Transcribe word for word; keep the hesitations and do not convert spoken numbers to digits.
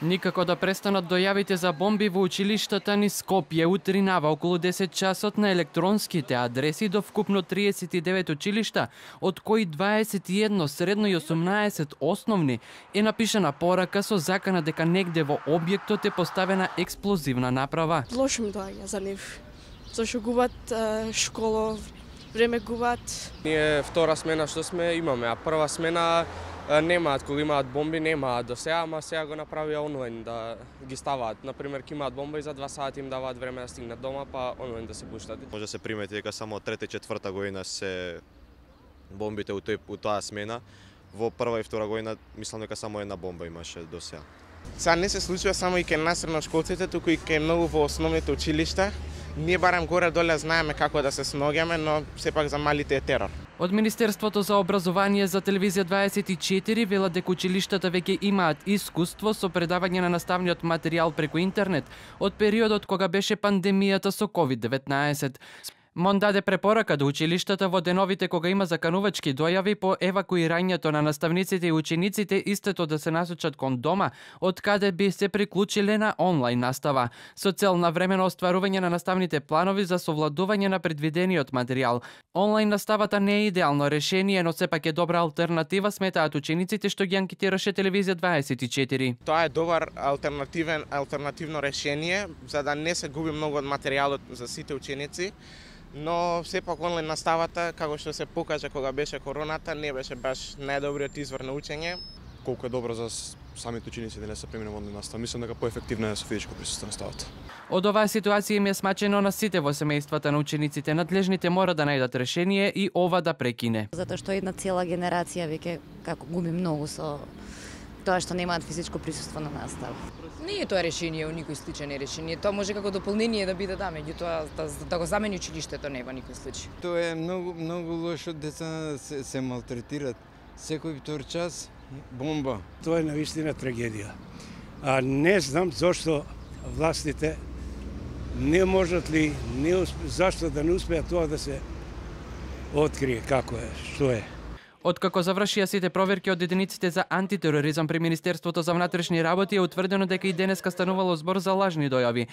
Никако да престанат дојавите за бомби во училиштата низ Скопје. Утринава околу десет часот на електронските адреси до вкупно триесет и девет училишта, од кои дваесет и едно средно и осумнаесет основни, е напишана порака со закана дека негде во објектот е поставена експлозивна направа. Лошо ми доаѓа за нив, зашто губат е, школа, време губат. Ние втора смена што сме имаме, а прва смена немаат, кога имаат бомби немаат до сега, ама сега го направија онлайн да ги ставаат. Например, ки имаат бомба и за два сати им даваат време да стигнат дома, па онлайн да се пуштат. Може да се примети дека само трета и четврта година се бомбите у, тој, у таа смена. Во прва и втора година мислам дека само една бомба имаше до сега. Сега не се случува само и кај нас средношколците, туку и кај многу во основните училишта. Ние барем горе-доле знаеме како да се сноѓаме, но сепак за малите е терор. Од Министерството за образование за телевизија дваесет и четири велат дека училиштата веќе имаат искуство со предавање на наставниот материјал преку интернет од периодот кога беше пандемијата со ковид деветнаесет. МОН даде препорака до училиштата во деновите кога има заканувачки дојави по евакуирањето на наставниците и учениците истото да се насочат кон дома, од каде би се приклучиле на онлайн настава, со цел на времено остварување на наставните планови за совладување на предвидениот материјал. Онлайн наставата не е идеално решение, но сепак е добра алтернатива, сметаат учениците што ги анкетираше телевизија дваесет и четири. Тоа е добар алтернативен алтернативно решение за да не се губи многу од материјалот за сите ученици. Но сепак онлайн наставата, како што се покажа кога беше короната, не беше баш најдобриот извор на учење. Колку е добро за самите ученици да не се премине во онлайн настава. Мислам дека поефективно е со физичко присуство на наставата. Од оваа ситуација им е смачено на сите во семејствата на учениците. Надлежните мора да најдат решение и ова да прекине. Затоа што една цела генерација веќе како губи многу со тоа што немаат физичко присуство на настава. Не е тоа решение, у никој случај не е решение. Тоа може како дополнение да биде да, меѓутоа да, да го замени училиштето не во никој случај. Тоа е многу многу лошо, деца се, се малтретират. Секој втор час бомба. Тоа е навистина трагедија. А не знам зошто властите не можат ли, не усп... зашто да не успеат тоа да се открие како е, што е. Откако завршија сите проверки од единиците за антитероризам при Министерството за внатрешни работи, е утврдено дека и денеска станувало збор за лажни дојави.